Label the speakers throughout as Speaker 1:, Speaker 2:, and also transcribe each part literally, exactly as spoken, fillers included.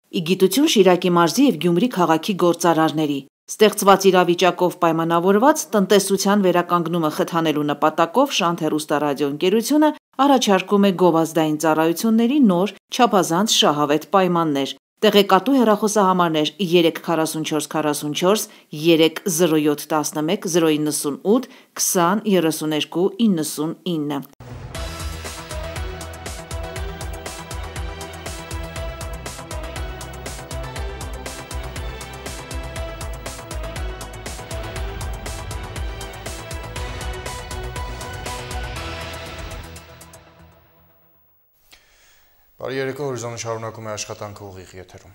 Speaker 1: ի գիտություն Շիրակի մարզի և Գյումրի քաղաքի գործարարների։ Ստեղծված իրավիճակով պայմանավորված տնտեսության վերականգնումը խթանելու նպատակով Շանթ հեռուստառադիոընկերությունը առաջարկում է գովազդային ծառայությունների նոր, չափազանց շահավետ պայմաններ։ Տեղեկատու հեռախոսահամարներ երեք քառասունչորս քառասունչորս, երեք զրո յոթ տասնմեկ, զրո իննսունութ, քսան երեսուներկու իննսունինը։
Speaker 2: Բարի երեկո, հորիզոնը շարունակում է աշխատանքը ուղիղ եթերում։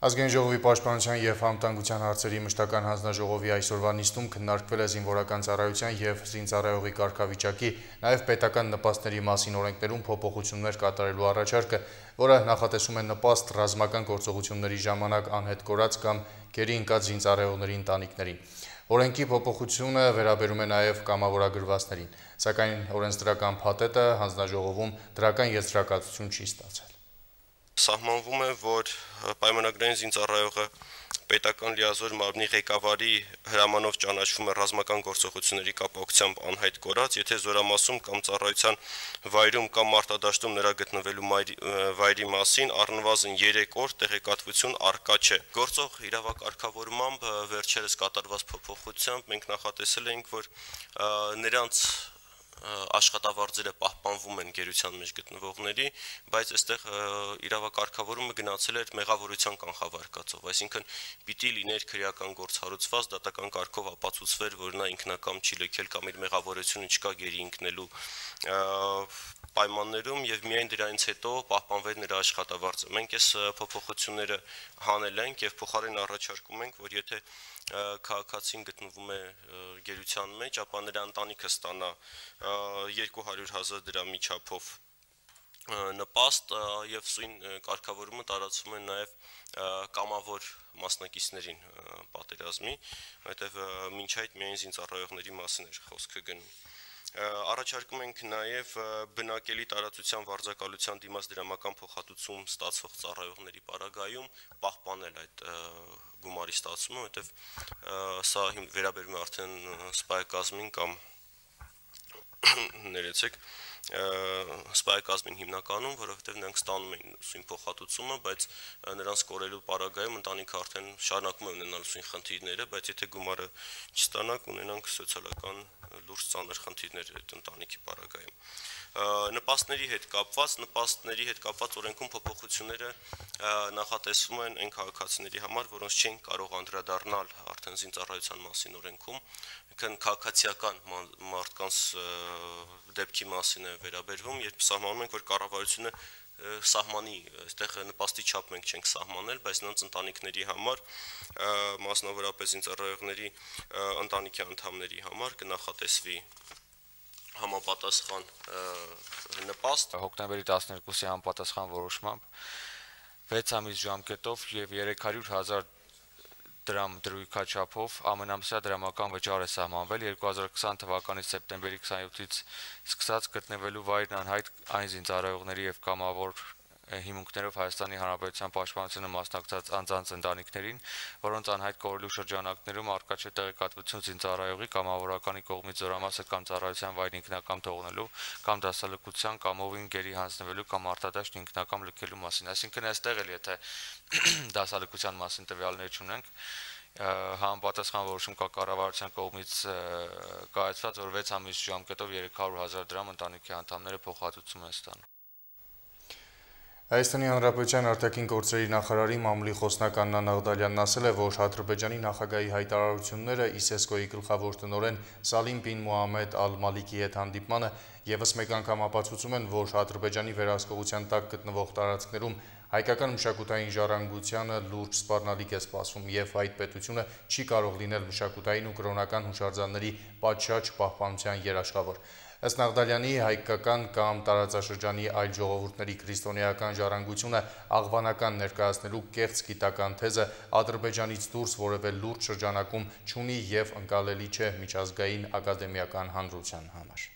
Speaker 2: Ազգային ժողովի պաշտպանության և անվտանգության հարցերի մշտական հանձնաժողովի այսօրվա նիստում քննարկվել է զինվորական ծառայության և զինծառայողի կարգավիճակի, նաև պետական նպաստների մասին օրենքներում փոփոխություններ կատարելու առաջարկը, որը նախատեսում է նպաստ ռազմական գործողությունների ժամանակ անհետ կորած կամ գերի ընկած զինծառայողների ընտանիքներին։ Օրենքի փոփոխությունը վերաբերում է նաև կամավորագրվածներին, սակայն օրենսդրական փաթեթը հանձնաժողովում դրական եզրակացություն չի ստացել։
Speaker 3: Սահմանվում է, որ պայմանագրային զինծառայողը պետական լիազոր մարմնի ղեկավարի հրամանով ճանաչվում է ռազմական գործողությունների կապակցությամբ անհայտ կորած, եթե զորամասում կամ ծառայության վայրում կամ մարտադաշտում նրա գտնվելու վայրի մասին առնվազն երեք օր տեղեկատվություն առկա չէ։ Գործող իրավակարգավորմամբ վերջերս կատարված փոփոխությամբ մենք նախատեսել էինք, որ նրանց աշխատավարձերը պահպանվում են գերության մեջ գտնվողների, բայց այստեղ իրավակարգավորումը գնացել էր մեղավորության կանխավարկածով, այսինքն պիտի լիներ քրեական գործ հարուցված, դատական կարգով ապացուցվեր, որ նա ինքնակամ չի լքել կամ իր մեղավորությունը չկա գերի ընկնելու պայմաններում եւ միայն դրանից հետո պահպանվեր նրա աշխատավարձը։ Մենք այս փոփոխությունները հանել ենք եւ փոխարեն առաջարկում ենք, որ եթե քաղաքացին գտնվում է գերության մեջ, ապա նրա ընտանիքը ստանա երկու հարյուր հազար դրամի չափով նպաստ եւ սույն կարգավորումը տարածվում է նաեւ կամավոր մասնակիցներին պատերազմի, որտեղ մինչ այդ միայն զինծառայողների մասին էր խոսքը գնում։ Առաջարկում ենք նաև բնակելի տարածության վարձակալության դիմաց դրամական փոխհատուցում ստացող ծառայողների պարագայում պահպանել այդ գումարի ստացումը, որտեղ սա վերաբերում է արդեն սպայակազմին կամ ներեցեք սպայակազմին հիմնականում, որովհետև նրանք ստանում էին սույն փոխհատուցումը, բայց նրանց կորելու պարագայում ընտանիքը արդեն շարունակում է ունենալ սույն խնդիրները, բայց եթե գումարը չստանա, կունենանք սոցիալական լուրջ ծանր խնդիրներ այդ ընտանիքի պարագայում։ Նպաստների հետ կապված, նպաստների հետ կապված օրենքում փոփոխությունները նախատեսվում են այն քաղաքացիների համար, որոնց չեն կարող անդրադառնալ արդեն զինծառայության մասին օրենքում, քան քաղաքացիական մարդկանց դեպքի մասին է վերաբերվում, երբ սահմանում ենք, որ կառավարությունը սահմանի, այստեղ նպաստի չափ մենք չենք սահմանել, բայց նրանց ընտանիքների համար, մասնավորապես զինծառայողների ընտանիքի անդամների համար կնախատեսվի համապատասխան նպաստ։
Speaker 4: Հոկտեմբերի տասներկուսի համապատասխան որոշմամբ վեց ամիս ժամկետով եւ երեք հարյուր հազար դրամ դրույքաչափով ամենամսյա դրամական վճար է սահմանվել երկու հազար քսան թվականի սեպտեմբերի քսանյոթից սկսած գտնվելու վայրն անհայտ այն զինծառայողների եւ կամավոր հիմունքներով Հայաստանի Հանրապետության պաշտպանությանը մասնակցած անձանց ընտանիքներին, որոնց անհայտ կորելու շրջանակներում առկա չէ տեղեկատվություն զինծառայողի կամավորականի կողմից զորամասը կամ ծառայության վայրն ինքնակամ թողնելու կամ դասալքության կամ ովին գերի հանձնվելու կամ արտադաշտ ինքնակամ լքելու մասին։ Այսինքն այստեղ էլ եթե դասալքության մասին տվյալներ չունենք, համապատասխան որոշում կա կառավարության կողմից կայացված, որ վեց ամիս ժամկետով երեք հարյուր հազար դրամ ընտանիքի անդամները փոխհատուցում են ստանում։
Speaker 2: Հայաստանի Հանրապետության արտաքին գործերի նախարարի մամուլի խոսնակ Աննա Նաղդալյանն ասել է, որ Ադրբեջանի նախագահի հայտարարությունները ISESCO-ի գլխավոր տնօրեն Սալիմ բին Մուհամմեդ ալ-Մալիքի հետ հանդիպմանը եւս մեկ անգամ ապացուցում են, որ Ադրբեջանի վերահսկողության տակ գտնվող տարածքներում հայկական մշակութային ժառանգությանը լուրջ սպառնալիք է սպասվում եւ այդ պետությունը չի կարող լինել մշակութային ու կրոնական հուշարձանների պատշաճ պահպանության երաշխավոր։ Ըստ Նաղդալյանի, հայկական կամ տարածաշրջանի այլ ժողովուրդների քրիստոնեական ժառանգությունը աղվանական ներկայացնելու կեղծ գիտական թեզը Ադրբեջանից դուրս որևէ լուրջ շրջանակում չունի եւ ընկալելի չէ միջազգային ակադեմիական հանրության համար։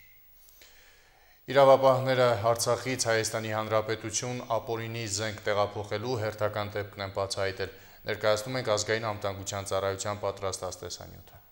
Speaker 2: Իրավապահները Արցախից Հայաստանի Հանրապետություն ապօրինի զենք տեղափոխելու հերթական դեպքն են բացահայտել։ Ներկայացնում ենք ազգային անվտանգության ծառայության պատրաստած տեսանյութը։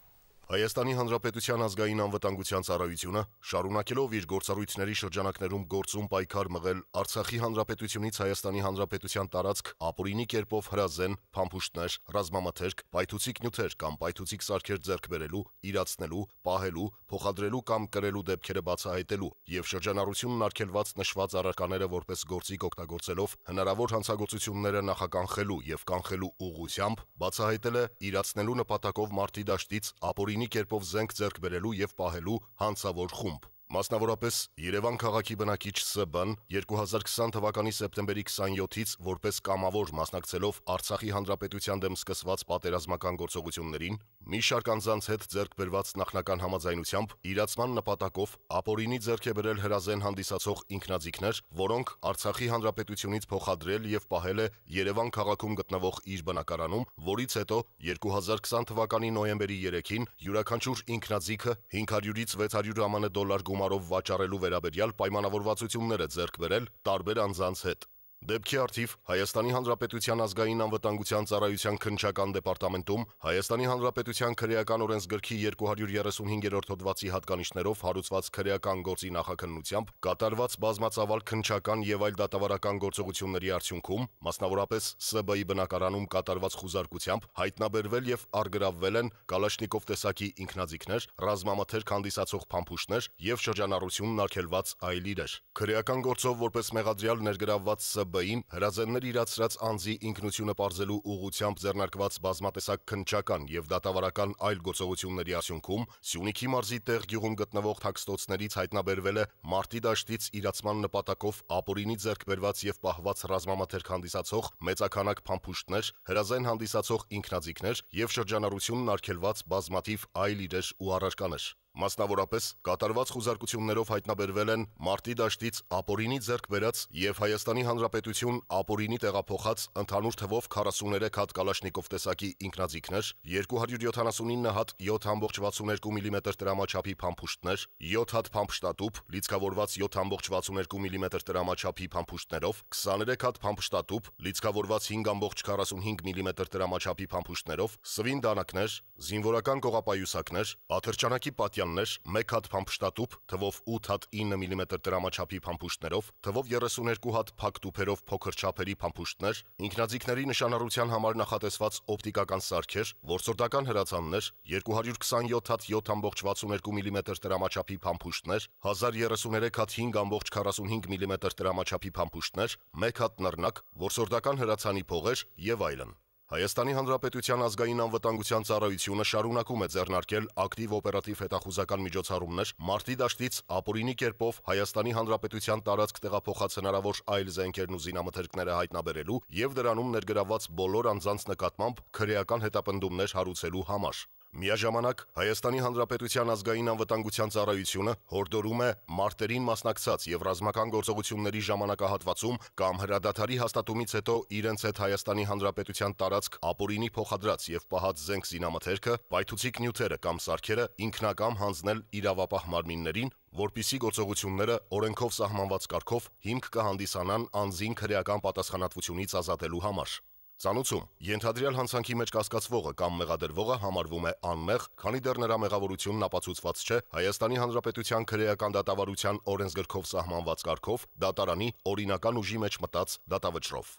Speaker 5: Հայաստանի Հանրապետության ազգային անվտանգության ծառայությունը, շարունակելով իր գործառույթների շրջանակներում գործում պայքար մղել Արցախի Հանրապետությունից Հայաստանի Հանրապետության տարածք ապօրինի կերպով հրազեն, փամփուշտներ, ռազմամթերք, պայթուցիկ նյութեր կամ պայթուցիկ սարքեր ձեռք բերելու, իրացնելու, պահելու, փոխադրելու կամ կրելու դեպքերը բացահայտելու եւ շրջանառությունն արգելված նշված առարկաները որպես գործիք օգտագործելով հնարավոր հանցագործությունները նախականխելու եւ կանխելու ուղղությամբ բացահայտել է իրացնելու նպատակով մարտի դաշտից ապօրինի կերպով զենք ձեռք բերելու եւ պահելու հանցավոր խումբ։ Մասնավորապես Երևան քաղաքի բնակիչ Ս.Բ.-ն երկու հազար քսան թվականի սեպտեմբերի քսանյոթից որպես կամավոր մասնակցելով Արցախի Հանրապետության դեմ սկսված պատերազմական գործողություններին, մի շարք անձանց հետ ձեռք բերված նախնական համաձայնությամբ իրացման նպատակով ապօրինի ձեռք է բերել հրազեն հանդիսացող ինքնաձիգներ, որոնք Արցախի Հանրապետությունից փոխադրել եւ պահել է Երևան քաղաքում գտնվող իր բնակարանում, որից հետո երկու հազար քսան թվականի նոյեմբերի երեքին յուրաքանչյուր ինքնաձիգը հինգ հարյուրից վեց հարյուր ԱՄՆ դոլար գումարով վաճառելու վերաբերյալ պայմանավորվածություններ է ձեռք բերել տարբեր անձանց հետ։ Դեպքի արդիվ Հայաստանի Հանրապետության ազգային անվտանգության ծառայության քննչական դեպարտամենտում Հայաստանի Հանրապետության քրեական օրենսգրքի երկու հարյուր երեսունհինգերորդ հոդվածի հատկանիշներով հարուցված քրեական գործի նախաքննությամբ կատարված բազմածավալ քննչական եւ այլ դատավարական գործողությունների արդյունքում, մասնավորապես Ս.Բ.-ի բնակարանում կատարված խուզարկությամբ հայտնաբերվել եւ առգրավվել են Կալաշնիկով տեսակի ինքնաձիգներ, ռազմամթերք հանդիսացող փամփուշտներ եւ շրջանառությունն արգելված այլ իրեր։ Քրեական գործով որպես մեղադրյալ ներգրավված Ս.Բ.-ին հրազեններ իրացրած անձի ինքնությունը պարզելու ուղղությամբ ձեռնարկված բազմատեսակ քննչական եւ դատավարական այլ գործողությունների արդյունքում Սյունիքի մարզի Տեղ գյուղում գտնվող թաքստոցներից հայտնաբերվել է մարտի դաշտից իրացման նպատակով ապօրինի ձեռք բերված եւ պահված ռազմամթերք հանդիսացող մեծաքանակ փամփուշտներ, հրազեն հանդիսացող ինքնաձիգներ եւ շրջանառությունն արգելված բազմաթիվ այլ իրեր ու առարկաներ։ Մասնավորապես կատարված խուզարկություններով հայտնաբերվել են մարտի դաշտից ապօրինի ձեռք բերած եւ Հայաստանի Հանրապետություն ապօրինի տեղափոխած ընդհանուր թվով քառասուներեք հատ Կալաշնիկով տեսակի ինքնաձիգներ, երկու հարյուր յոթանասունինը հատ յոթ կամա վաթսունութ միլիմետր տրամաչափի փամփուշտներ, յոթ հատ փամփշտատուփ, լիցքավորված յոթ կամա վաթսունութ միլիմետր տրամաչափի փամփուշտներով, քսաներեք հատ փամփշտատուփ, լիցքավորված հինգ կամա քառասունհինգ միլիմետր տրամաչափի փամփուշտներով, սվին դանակներ, զինվորական կողապայուսակներ, աթրջանակի պատյաններ, մեկ հատ փամփշտատուփ, թվով ութ հատ ինը միլիմետր տրամաչափի փամփուշտներով, թվով երեսուներկու հատ փակ տուփերով փոքր չափերի փամփուշտներ, ինքնաձիգների նշանառության համար նախատեսված օպտիկական սարքեր, որսորդական հրացաններ, երկու հարյուր քսանյոթ հատ յոթ կամա վաթսունութ միլիմետր տրամաչափի փամփուշտներ, հազար երեսուներեք հատ հինգ կամա քառասունհինգ միլիմետր տրամաչափի փամփուշտներ, մեկ հատ նռնակ, որսորդական հրացանի փողեր եւ այլն։ Հայաստանի Հանրապետության ազգային անվտանգության ծառայությունը շարունակում է ձեռնարկել ակտիվ օպերատիվ հետախուզական միջոցառումներ մարտի դաշտից ապօրինի կերպով Հայաստանի Հանրապետության տարածք տեղափոխած հնարավոր այլ զենքերն ու զինամթերքները հայտնաբերելու եւ դրանում ներգրավված բոլոր անձանց նկատմամբ քրեական հետապնդումներ հարուցելու համար։ Միաժամանակ Հայաստանի Հանրապետության ազգային անվտանգության ծառայությունը հորդորում է մարտերին մասնակցած եւ ռազմական գործողությունների ժամանակահատվածում կամ հրադադարի հաստատումից հետո իրենց հետ Հայաստանի Հանրապետության տարածք ապօրինի փոխադրած եւ պահած զենք զինամթերքը, պայթուցիկ նյութերը կամ սարքերը ինքնակամ հանձնել իրավապահ մարմիններին, որպիսի գործողությունները օրենքով սահմանված կարգով հիմք կհանդիսանան անձին քրեական պատասխանատվությունից ազատելու համար։ Ծանուցում ենթադրյալ հանցանքի մեջ կասկածվողը կամ մեղադրվողը համարվում է անմեղ, քանի դեռ նրա մեղավորությունն ապացուցված չէ Հայաստանի Հանրապետության քրեական դատավարության օրենսգրքով սահմանված կարգով դատարանի օրինական ուժի մեջ մտած դատավճռով։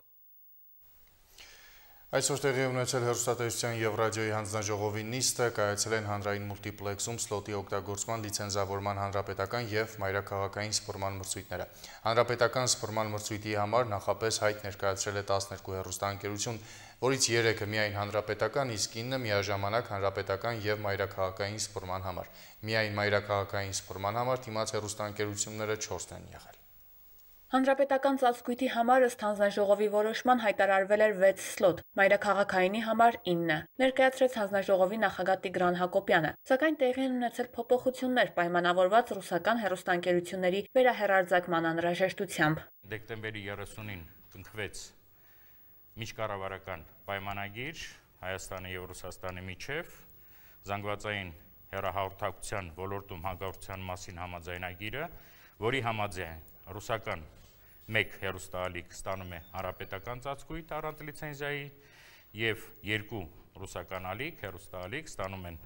Speaker 2: Այսօր տեղի ունեցել հեռուստատեսության եւ ռադիոյի հանձնաժողովի նիստը, կայացել են հանրային մուլտիպլեքսում սլոտի օգտագործման լիցենզավորման հանրապետական եւ մայրաքաղաքային սփռման մրցույթները։ Հանրապետական սփռման մրցույթի համար նախապես հայտ ներկայացրել է տասներկու հեռուստաընկերություն, որից երեքը միայն հանրապետական, իսկ ինը միաժամանակ հանրապետական եւ մայրաքաղաքային սփռման համար։ Միայն մայրաքաղաքային սփռման համար թիմած հեռուստաընկերությունները չորսն են եղել։
Speaker 6: Հանրապետական ծածկույթի համար ըստ հանձնաժողովի որոշման հայտարարվել էր վեց սլոտ, մայրաքաղաքայինի համար ինը, ներկայացրեց հանձնաժողովի նախագահ Տիգրան Հակոբյանը, սակայն տեղի են ունեցել փոփոխություններ պայմանավորված ռուսական հեռուստաընկերությունների վերահեռարձակման անհրաժեշտությամբ։
Speaker 7: Դեկտեմբերի երեսունին կնքվեց միջկառավարական պայմանագիր Հայաստանի եւ Ռուսաստանի միջև զանգվածային հեռահաղորդակցության ոլորտում հաղորդակցության մասին համաձայնագիրը, որի համաձայն ռուսական մեկ հեռուստաալիք ստանում է հանրապետական ծածկույթ առանց լիցենզիայի եւ երկու ռուսական ալիք, հեռուստաալիք ստանում են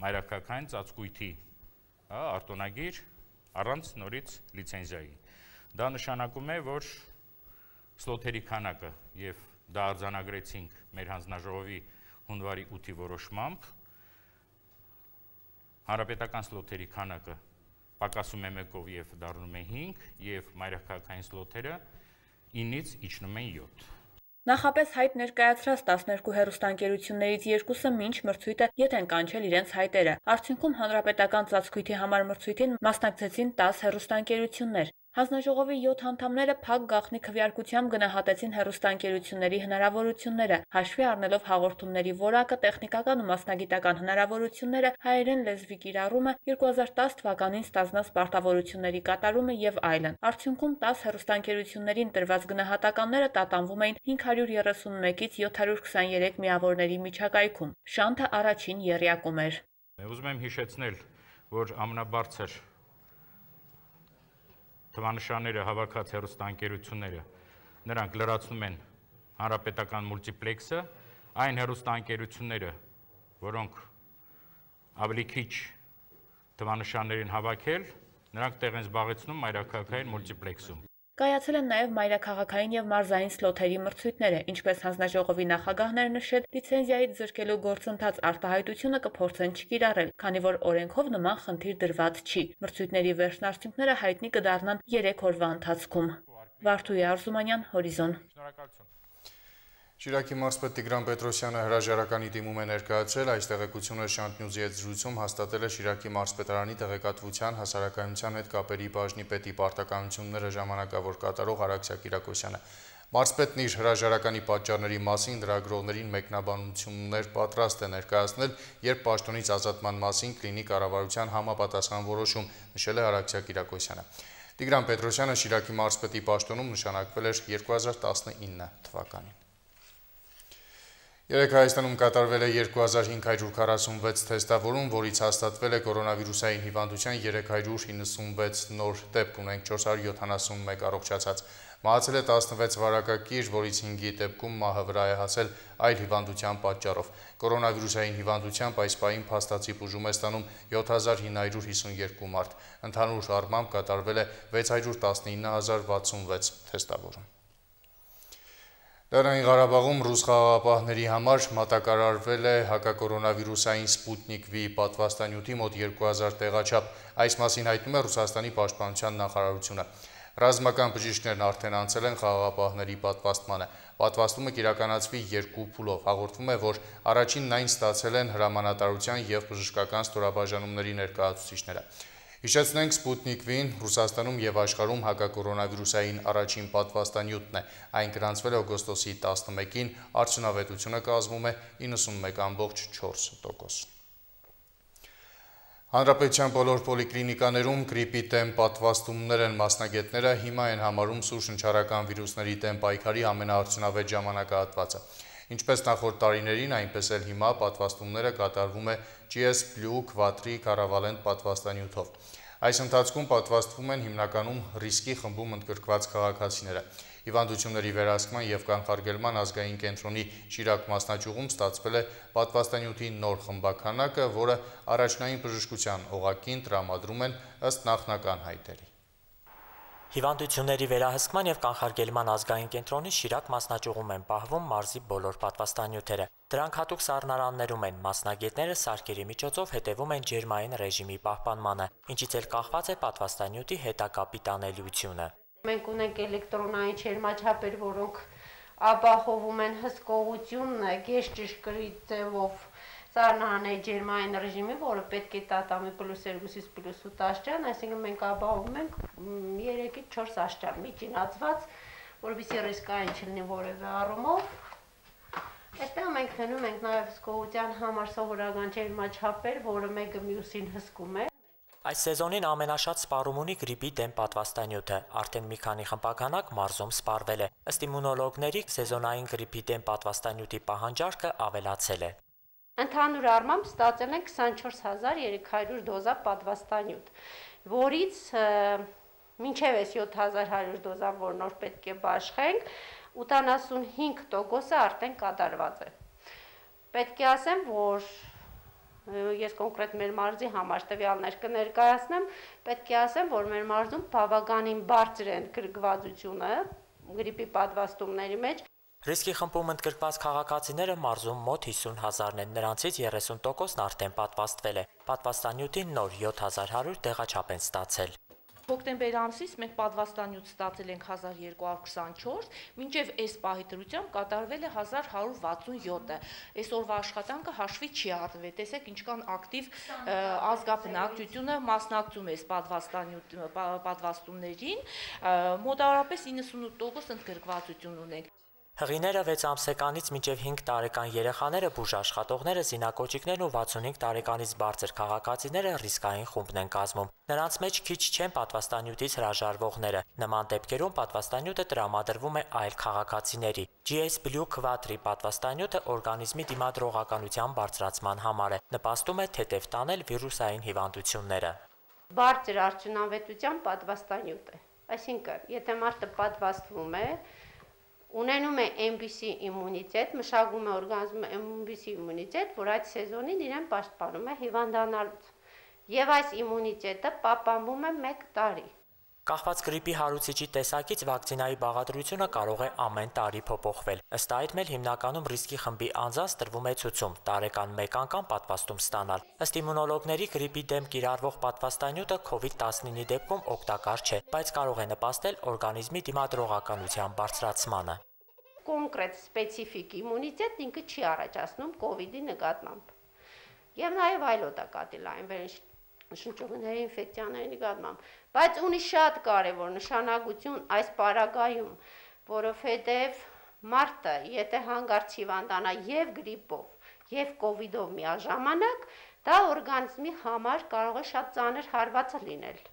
Speaker 7: մայրաքաղաքային ծածկույթի արտոնագիր առանց նորից լիցենզիայի։ Դա նշանակում է, որ սլոթերի քանակը եւ դա արձանագրեցինք մեր հանձնաժողովի հունվարի ութի որոշմամբ, հանրապետական սլոթերի քանակը պակասում է մեկով եւ դառնում է հինգ եւ մայրաքաղաքային սլոթերը ինից իջնում են յոթ։
Speaker 6: Նախապես հայտ ներկայացրած տասներկու հեռուստաընկերություններից երկուսը մինչ մրցույթը ետ են կանչել իրենց հայտերը։ Արդյունքում հանրապետական ծածկույթի համար մրցույթին մասնակցեցին տաս հեռուստաընկերություններ։ Հանձնաժողովի յոթ անդամները փակ գաղտնի քվեարկությամբ գնահատեցին հեռուստաընկերությունների հնարավորությունները, հաշվի առնելով հաղորդումների որակը, տեխնիկական ու մասնագիտական հնարավորությունները, հայերեն լեզվի կիրառումը, երկու հազար տաս թվականին ստանձնած պարտավորությունների կատարումը եւ այլն։ Արդյունքում տաս հեռուստաընկերություններին տրված գնահատականները տատանվում էին հինգ հարյուր երեսունմեկից յոթ հարյուր քսաներեք միավորների միջակայքում։ Շանթը առաջին եռյակում էր։
Speaker 7: Ուզում եմ հիշեցնել, որ ամենաբարձր թվանշանները հավաքած հեռուստաընկերությունները նրանք լրացնում են հանրապետական մուլտիպլեքսը, այն հեռուստաընկերությունները, որոնք ավելի քիչ թվանշաններ են հավաքել, նրանք տեղ են զբաղեցնում մայրաքաղաքային մուլտիպլեքսում։
Speaker 6: Կայացել են նաև մայրաքաղաքային եւ մարզային սլոթերի մրցույթները, ինչպես հանձնաժողովի նախագահն էր նշել, լիցենզիայից զրկելու գործընթաց արտահայտությունը կփորձեն չկիրառել, քանի որ օրենքով նման խնդիր դրված չի։ Մրցույթների վերջնարդյունքները հայտնի կդառնան երեք օրվա ընթացքում։ Վարդուհի Արզումանյան, Հորիզոն։
Speaker 2: Շիրակի մարզպետ Տիգրան Պետրոսյանը հրաժարականի դիմում է ներկայացրել, այս տեղեկությունը Շանթ Նյուզի հետ զրույցում հաստատել է Շիրակի մարզպետարանի տեղեկատվության հասարակայնության հետ կապերի բաժնի պետի պարտականությունները ժամանակավոր կատարող Արաքսյա Կիրակոսյանը։ Մարզպետն իր հրաժարականի պատճառների մասին լրագրողներին մեկնաբանություններ պատրաստ է ներկայացնել, երբ պաշտոնից ազատման մասին կլինի կառավարության համապատասխան որոշում, նշել է Արաքսյա Կիրակոսյանը։ Տիգրան Պետրոսյանը Շիրակի մարզպետի պաշտոնում նշանակվել էր երկու հազար տասնինը թվականին։ Երեկ Հայաստանում կատարվել է երկու հազար հինգ հարյուր քառասունվեց թեստավորում, որից հաստատվել է կորոնավիրուսային հիվանդության երեք հարյուր իննսունվեց նոր դեպք, ունենք չորս հարյուր յոթանասունմեկ առողջացած։ Մահացել է տասնվեց վարակագիր, որից հինգի դեպքում մահը վրա է հասել այլ հիվանդության պատճառով։ Կորոնավիրուսային հիվանդությամբ այս պահին փաստացի բուժում է ստանում յոթ հազար հինգ հարյուր հիսունյոթ մարդ։ Ընդհանուր առմամբ կատարվել է վեց հարյուր տասնինը հազար վաթսունվեց թեստավորում։ Լեռնային Ղարաբաղում ռուս խաղաղապահների համար մատակարարվել է հակակորոնավիրուսային Սպուտնիկ V պատվաստանյութի մոտ երկու հազար տեղաչափ։ Այս մասին հայտնում է Ռուսաստանի պաշտպանության նախարարությունը։ Ռազմական բժիշկներն արդեն անցել են խաղաղապահների պատվաստմանը։ Պատվաստումը կիրականացվի երկու փուլով։ Հաղորդվում է, որ առաջինն այն ստացել են հրամանատարության եւ բժշկական ստորաբաժանումների ներկայացուցիչները։ Հիշեցնենք, Սպուտնիկ V-ն Ռուսաստանում եւ աշխարհում հակակորոնավիրուսային առաջին պատվաստանյութն է։ Այն գրանցվել է օգոստոսի տասնմեկին, արդյունավետությունը կազմում է իննսունմեկ ամբողջ չորս տոկոս։ Հանրապետության բոլոր պոլիկլինիկաներում գրիպի դեմ պատվաստումներ են, մասնագետները հիմա են համարում սուրշնչառական վիրուսների դեմ պայքարի ամենաարդյունավետ ժամանակահատվածը։ Ինչպես նախորդ տարիներին, այնպես էլ հիմա պատվաստումները կատարվում է G S Blue Quattri Caravalent պատվաստանյութով։ Այս ընթացքում պատվաստվում են հիմնականում ռիսկի խմբում ընդգրկված քաղաքացիները։ Հիվանդությունների վերահսկման եւ կանխարգելման ազգային կենտրոնի Շիրակ մասնաճյուղում ստացվել է պատվաստանյութի նոր խմբաքանակը, որը առաջնային բժշկության օղակին տրամադրում են ըստ նախնական հայտերի։
Speaker 8: Հիվանդությունների վերահսկման եւ կանխարգելման ազգային կենտրոնի Շիրակ մասնաճյուղում են պահվում մարզի բոլոր պատվաստանյութերը։ Դրանք հատուկ սառնարաններում են, մասնագետները սարքերի միջոցով հետևում են ջերմային ռեժիմի պահպանմանը, ինչից էլ կախված է պատվաստանյութի հետագա պիտանելիությունը։
Speaker 9: Մենք ունենք էլեկտրոնային ջերմաչափեր, որոնք ապահովում են հսկողությունը գեշ ճշգրիտ ձևով սառնարանների ջերմային ռեժիմի, որը պետք է տատամի պլյուս երկուսից պլյուս ութ աստիճան, այսինքն մենք ապահովում ենք երեքից չորս աստիճան միջինացված, որովհետեւ ռիսկային չլինի որևէ առումով։ Այստեղ մենք հնում ենք նաև հսկողության համար սովորական ջերմաչափեր, որը մեկը մյուսին հսկում է։
Speaker 8: Այս սեզոնին ամենաշատ սպառում ունի գրիպի դեմ պատվաստանյութը, արդեն մի քանի խմբականակ մարզում սպառվել է։ Ըստ իմունոլոգների, սեզոնային գրիպի դեմ պատվաստանյութի պահանջարկը ավելացել է։
Speaker 9: Ընդհանուր առմամբ ստացել են քսանչորս հազար երեք հարյուր դոզա պատվաստանյութ, որից մինչև այս յոթ հազար հարյուր դոզան, որ նոր պետք է բաշխենք, ութանասունհինգ տոկոսը արդեն կատարված է։ Պետք է ասեմ, որ ես կոնկրետ մեր մարզի համար տվյալներ կներկայացնեմ, պետք է ասեմ, որ մեր մարզում բավականին բարձր է ընդգրկվածությունը գրիպի պատվաստումների մեջ։
Speaker 8: Ռիսկի խմբում ընդգրկված քաղաքացիները մարզում մոտ հիսուն հազարն են, նրանցից երեսուն տոկոսն արդեն պատվաստվել է։ Պատվաստանյութին նոր յոթ հազար հարյուր տեղաչափ են ստացել։
Speaker 10: Հոկտեմբեր ամսից մենք պատվաստանյութ ստացել ենք հազար երկու հարյուր քսանչորս, մինչև այս պահի դրությամբ կատարվել է հազար հարյուր վաթսունյոթը։ Այսօրվա աշխատանքը հաշվի չի առնվել։ Տեսեք ինչքան ակտիվ ազգաբնակչությունը մասնակցում է այս պատվաստանյութ պատվաստումներին, մոտավորապես իննսունութ տոկոս ընդգրկվածություն ունենք։
Speaker 8: Հղիները վեց ամսեկանից մինչև հինգ տարեկան երեխաները, բուժաշխատողները, զինակոճիկներն ու վաթսունհինգ տարեկանից բարձր քաղաքացիները ռիսկային խումբն են կազմում։ Նրանց մեջ քիչ չեն պատվաստանյութից հրաժարվողները։ Նման դեպքերում պատվաստանյութը տրամադրվում է այլ քաղաքացիների։ G S Blue Quattro պատվաստանյութը օրգանիզմի դիմադրողականության բարձրացման համար է, նպաստում է թեթև տանել վիրուսային հիվանդությունները։
Speaker 9: Բարձր արդյունավետության պատվաստանյութ է։ Այսինքն, եթե մարդը պատվաստվում է, ունենում է M B C իմունիտետ, մշակում է օրգանիզմը M B C իմունիտետ, որ այդ սեզոնին իրեն պաշտպանում է հիվանդանալուց։ Եվ այս իմունիտետը պահպանվում է մեկ տարի։
Speaker 8: Կախված գրիպի հարուցիչի տեսակից վակցինայի բաղադրությունը կարող է ամեն տարի փոփոխվել։ Ըստ այդմ էլ հիմնականում ռիսկի խմբի անձանց տրվում է ցուցում տարեկան մեկ անգամ պատվաստում ստանալ։ Ըստ իմունոլոգների գրիպի դեմ կիրառվող պատվաստանյութը քովիդ տասնինի դեպքում օգտակար չէ, բայց կարող է նպաստել օրգանիզմի դիմադրողականության բարձրացմանը։
Speaker 9: Կոնկրետ սպეციფიկ իմունիտետ ինքը չի առաջացնում կովիդի նկատմամբ։ Եվ նաև այլ օտակատիլային շնչուղիների ինֆեկցիաների նկատմամբ, բայց ունի շատ կարևոր նշանակություն այս պարագայում, որովհետև մարդը, եթե հանգարց հիվանդանա եւ գրիպով, եւ կովիդով միաժամանակ, դա օրգանիզմի համար կարող է շատ ծանր հարված լինել։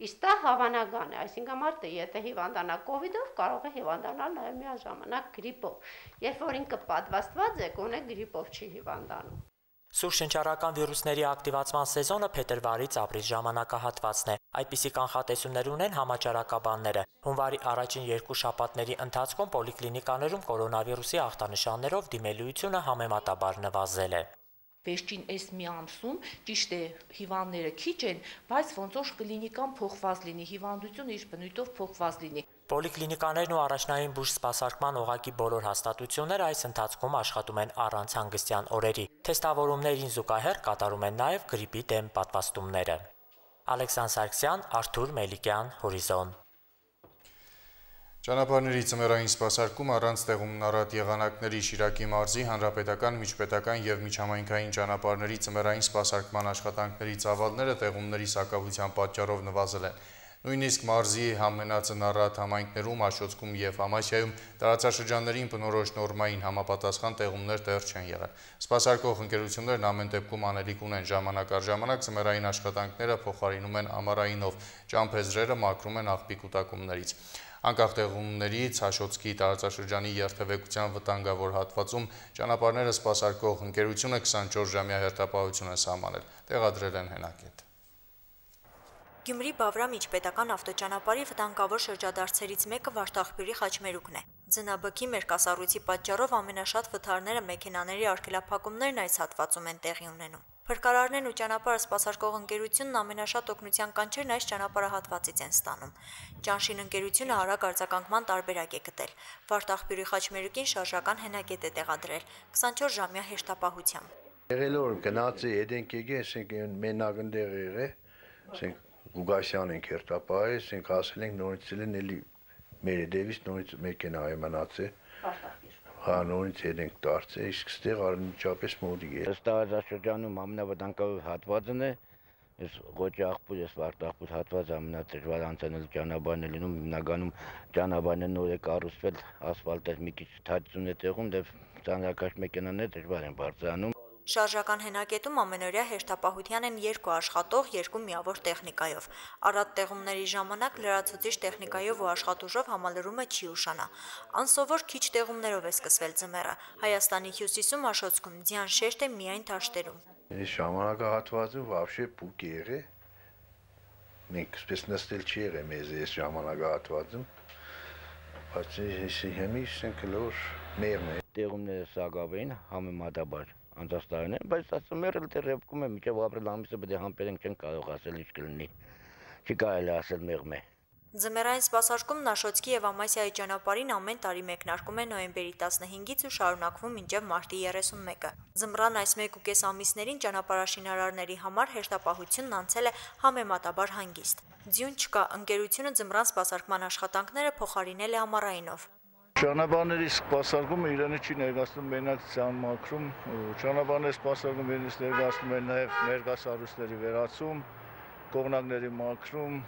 Speaker 9: Իսկ դա հավանական է, այսինքն մարդը, եթե հիվանդանա կովիդով, կարող է հիվանդանալ նաև միաժամանակ գրիպով, երբ որ ինքը պատվաստված է, գոնե գրիպով չի հիվանդանում։
Speaker 8: Սուր շնչառական վիրուսների ակտիվացման սեզոնը փետրվարից ապրիլ ժամանակահատվածն է։ Այդպիսի կանխատեսումներ ունեն համաճարակաբանները։ Հունվարի առաջին երկու շաբաթների ընթացքում պոլիկլինիկաներում կորոնավիրուսի ախտանշաններով դիմելիությունը համեմատաբար նվազել է։
Speaker 10: Վերջին այս մի ամսում ճիշտ է հիվանդները քիչ են, բայց ոնց որ կլինիկան փոխված լինի, հիվանդությունը իր բնույթով փոխված լինի։
Speaker 8: Պոլիկլինիկաներն ու առաջնային բուժ սպասարկման օղակի բոլոր հաստատությունները այս ընթացքում աշխատում են առանց հանգստյան օրերի։ Թեստավորումներին զուգահեռ կատարում են նաև գրիպի դեմ պատվաստումները։ Ալեքսանդր Սարգսյան, Արթուր Մելիքյան, Հորիզոն։
Speaker 2: Ճանապարհների ծմերային սպասարկում առանց տեղումն առատ եղանակների Շիրակի մարզի հանրապետական, միջպետական և միջհամայնքային ճանապարհների ծմերային սպասարկման աշխատանքների ծավալները տեղումների սակավության պատճառով նվազել են։ Նույնիսկ մարզի ամենածնառատ համայնքներում, Աշոտսկում և Համասյայում տարածաշրջաններին բնորոշ նորմային համապատասխան տեղումներ դեռ չեն եղել։ Սպասարկող ընկերություններն ամեն դեպքում անելիք ունեն, ժամանակ առ ժամանակ ծմերային աշխատանքները փոխարինում են ամառայինով, ճամփեզրերը մաքրում են աղբի կուտակումներից։ Անկախ տեղումներից Աշոտսկի տարածաշրջանի երթևեկության վտանգավոր հատվածում ճանապարհները սպասարկող ընկերությունը քսանչորս ժամյա հերթապահություն է սահմանել, տեղադրել են հենակետ։
Speaker 11: Գյումրի-Բավրամ միջպետական ավտոճանապարհի վտանգավոր շրջադարձերից մեկը Վարդախբյուրի խաչմերուկն է։ Ձնաբքի մերկասառույցի պատճառով ամենաշատ վթարները մեքենաների արգելափակումներն այս հատվածում են տեղի ունենում։ Փրկարարներն ու ճանապարհը սպասարկող ընկերությունն ամենաշատ օգնության կանչերն այս ճանապարհահատվածից են ստանում։ Ճանշին ընկերությունը արագ արձագանքման տարբերակ է գտել։ Վարդախբյուրի խաչմերուկին շարժական հենակետ է տեղադրել քսանչորս ժամյա հեշտապահությամբ։
Speaker 12: Եղել որ գնացի едենք եկե, ասենք մենակ ընդեղ եղե, ասենք Ուգասյանին կերտապահել, ասենք ասել ենք նորից են էլի մեր դեվիս նորից մեքենա մնացել։ Հա նորից ենք դարձել, իսկ ստեղ անմիջապես մոդիկ է։
Speaker 13: Ըստ տարածաշրջանում ամենավտանգավոր հատվածն է, այս Ղոճի աղբյուր, այս Վարդախբյուր հատվածը ամենադժվար անցնելու ճանապարհն է լինում, հիմնականում ճանապարհը նոր է կառուցվել, ասֆալտը մի քիչ թաճություն է տեղում, դե ծանրակաշ մեքենաները դժվար են բարձրանում։
Speaker 11: Շարժական հենակետում ամենօրյա հերթապահության են երկու աշխատող, երկու միավոր տեխնիկայով։ Առատ տեղումների ժամանակ լրացուցիչ տեխնիկայով ու աշխատուժով համալրումը չի ուշանա։ Անսովոր քիչ տեղումներով է սկսվել ձմեռը։ Հայաստանի հյուսիսում Աշոտսկում ձյան շեշտ է միայն թաշտերում։
Speaker 12: Այս ժամանակահատվածը вообще փուկ է եղել։ մենք սպես նստել չի եղել մեզ այս ժամանակահատվածում, բայց հիմի ենք լոր մերն է։
Speaker 13: Տեղումները սագավային համեմատաբար անցած տարիներին, բայց ասում եմ դեռ ռեպկում է միջև ապրիլ ամիսը պետք է համբերենք չեն կարող ասել ինչ կլինի։ Չի կարելի ասել մեղմ է։
Speaker 11: Ձմեռային սպասարկումն Աշոտսկի եւ Ամասիայի ճանապարհին ամեն տարի մեկնարկում է նոյեմբերի տասնհինգից ու շարունակվում մինչև մարտի երեսունմեկը։ Ձմռան այս մեկ ու կես ամիսներին ճանապարհաշինարարների համար հերթապահությունն անցել է համեմատաբար հանգիստ։ Ձյուն չկա, ընկերությունը ձմռան սպասարկման աշխատանքները փոխարինել է ամառայինով։
Speaker 14: Ճանապարհների սպասարկումը իրենը չի ներկայացնում մենակ ցանմակրում, ճանապարհների սպասարկումը իրենից ներկայացնում է նաեւ ներկայացարույցների վերացում, կողմնակների մաքրում,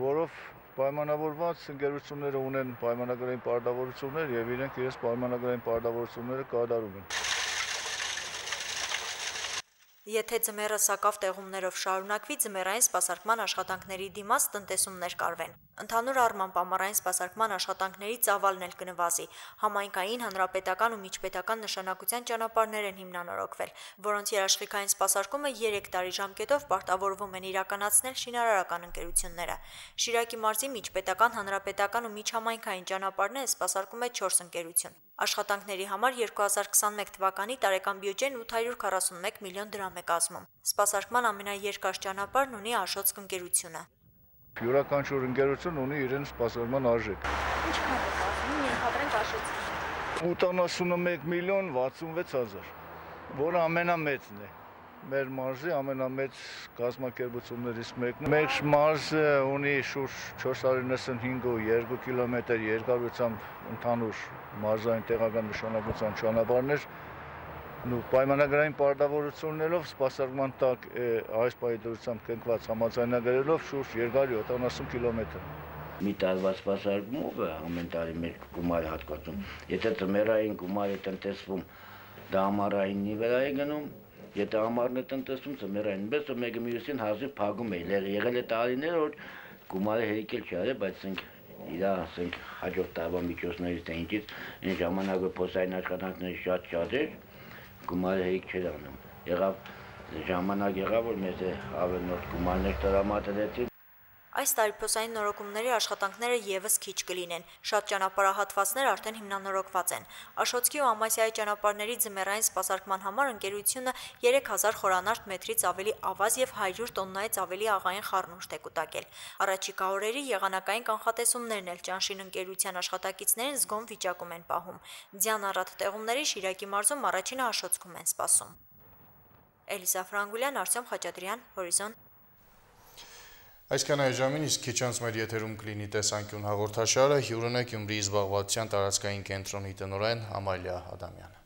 Speaker 14: որով պայմանավորված ընկերությունները ունեն պայմանագրային պարտավորություններ եւ իրենք իրենց պայմանագրային պարտավորությունները կատարում են։
Speaker 11: Եթե ձմեռը սակավ տեղումներով շարունակվի, ձմեռային սպասարկման աշխատանքների դիմաց տնտեսումներ կարվեն։ Ընդհանուր առմամբ ամառային սպասարկման աշխատանքների ծավալն էլ կնվազի։ Համայնքային, հանրապետական ու միջպետական նշանակության ճանապարհներ են հիմնանորոգվել, որոնց երաշխիքային սպասարկումը երեք տարի ժամկետով պարտավորվում են իրականացնել շինարարական ընկերությունները։ Շիրակի մարզի միջպետական, հանրապետական ու միջհամայնքային ճանապարհները սպասարկում է չորս ընկերություն։ Աշխատանքների համար երկու հազար քսանմեկ թվականի տարեկան բյուջեն ութ հարյուր քառասունմեկ միլիոն դրամ է կազմում։ Սպասարկման ամենաերկար ճանապարհն ունի Աշոտսկ ընկերությունը։
Speaker 14: Յուրաքանչյուր ընկերություն ունի իրեն սպասարկման արժեք։
Speaker 11: Ինչքան է կազմում, ենթադրենք Աշոտսկի։
Speaker 14: ութանասունմեկ միլիոն վաթսունվեց հազար, որը ամենամեծն է։ Մեր մարզի ամենամեծ կազմակերպություններից մեկն է։ Մեր մարզը ունի շուրջ չորս հարյուր նվսանհինգ ու երկու կիլոմետր երկարությամբ ընդհանուր մարզային տեղական նշանակության ճանապարհներ ու պայմանագրային պարտավորություններով սպասարկման տակ այս պայմանավորությամբ կնքված համաձայնագրերով շուրջ երկար յոթանասուն կիլոմետր։
Speaker 13: Մի տարվա սպասարկումով ամեն տարի մեր գումարը հատկացում։ Եթե ձմեռային գումարը տնտեսվում, դա ամառայինի վրա է գնում։ Եթե ամառն է տնտեսում, ձմեռային, բայց մեկը մյուսին հազիվ փակում է։ Եղել է տարիներ, որ գումարը հերիքել չի արել, բայց ասենք իր ասենք հաջորդ տարվա միջոցներից թե ինչից այն ժամանակը փոսային աշխատանքների շատ շատ էր, գումարը հերիք չէր անում։ Եղավ ժամանակ եղավ, որ մեզ ավելորդ գումարներ տրամադրեցին։
Speaker 11: Այս տարի փոսային նորոգումների աշխատանքները եւս քիչ կլինեն։ Շատ ճանապարհահատվածներ արդեն հիմնանորոգված են։ Աշոտսկի ու Ամասիայի ճանապարհների ձմեռային սպասարկման համար ընկերությունը երեք հազար խորանարդ մետրից ավելի ավազ եւ հարյուր տոննայից ավելի աղային խառնուրդ է կուտակել։ Առաջիկա օրերի եղանակային կանխատեսումներն էլ Ճանշին ընկերության աշխատակիցներին զգոն վիճակում են պահում։ Ձյան առատ տեղումների Շիրակի մարզում առաջինը Աշոտսկում են սպասում։ Էլիսա Ֆրանգուլյան, Արտյոմ Խաչատրյան, Հորիզոն։
Speaker 2: Այսքան այժմին, իսկ քիչ անց մեր եթերում կլինի տեսանկյուն հաղորդաշարը, հյուրն է Գյումրիի զբաղվածության տարածքային կենտրոնի տնօրեն Ամալիա Ադամյանը։